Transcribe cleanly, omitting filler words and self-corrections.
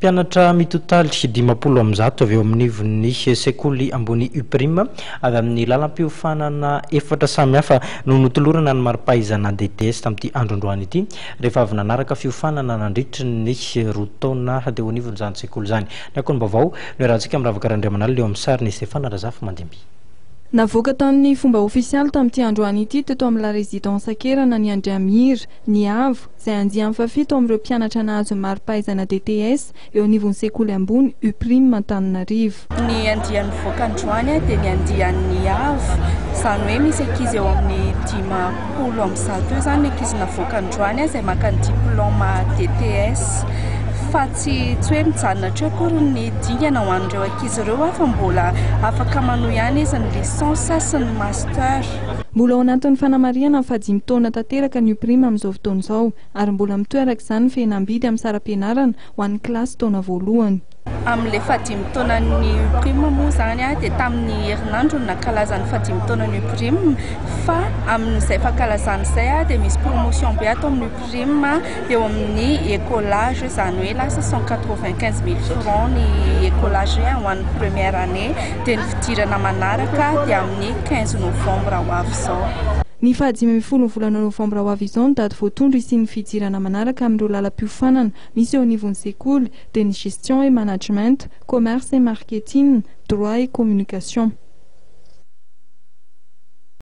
Mpianatra mitotaly 150 avy eo amin'ivon'ny sekoly ambony UPRIM avy amin'ny lalam-piofanana efatra samihafa no notolorana ny mari-pahaizana DTS tamin'ity andro androany ity, rehefa avy nanaraka fiofanana nandritry ny 2 taona teo anivon'izany sekoly izany. Ny akon'ny-baovao no iarahantsika amin'ny Ravaka Randriamanalina eo amin'ny sarin'i Stefana Razafimandimby. Navoaka tamin'ny fomba ofisialy tamin'ity androany ity teto amin'ny La Résidence Ankerana ny Andriamira, ny Avo, izay andiany fahafito amin'ireo mpianatra nahazo ny mari-pahaizana DTS eo anivon'ny sekoly ambony UPRIM Antananarivo. Ny andiany mivoaka androany dia ny andian'ny Avo, izany hoe misy ankizy eo amin'ny 150 eo izany ny ankizy navoaka androany izay maka ny diplaoma DTS. Fa tsy tsy hoe mijanona hatreo akory ny dingana ho an'ireo ankizy ireo fa mbola afaka manohy ihany izy ny licence sy ny master. Mbola ao anatin'ny fanamarihana ny fahadimy taona tanteraka ny UPRIM amin'izao fotoana izao ary mbola mitohy araka izany ny fihenam-bidy amin'ny saram-pianarana ho an'ny kilasy taona voalohany. Amin'ilay fahadimy taonan'ny UPRIM moa izany dia tamin'ny herinandro no nankalaza ny fahadimy taonan'ny UPRIM fa amin'izay fankalazana izay dia misy promotion be ato amin'ny UPRIM eo amin'ny écolage, izany hoe lasa 195 000 francs ny écolage ho an'ny première année, dia ny fidirana manaraka dia amin'ny 15 novembre ho avy izao. Ny faha-15 ny volana novambra ho avy izao no daty voatondro hisian'ny fidirana manaraka amin'ireo lalam-piofanana misy eo anivon'ny sekoly, dia ny gestion et management, commerce et marketing, droit et communication.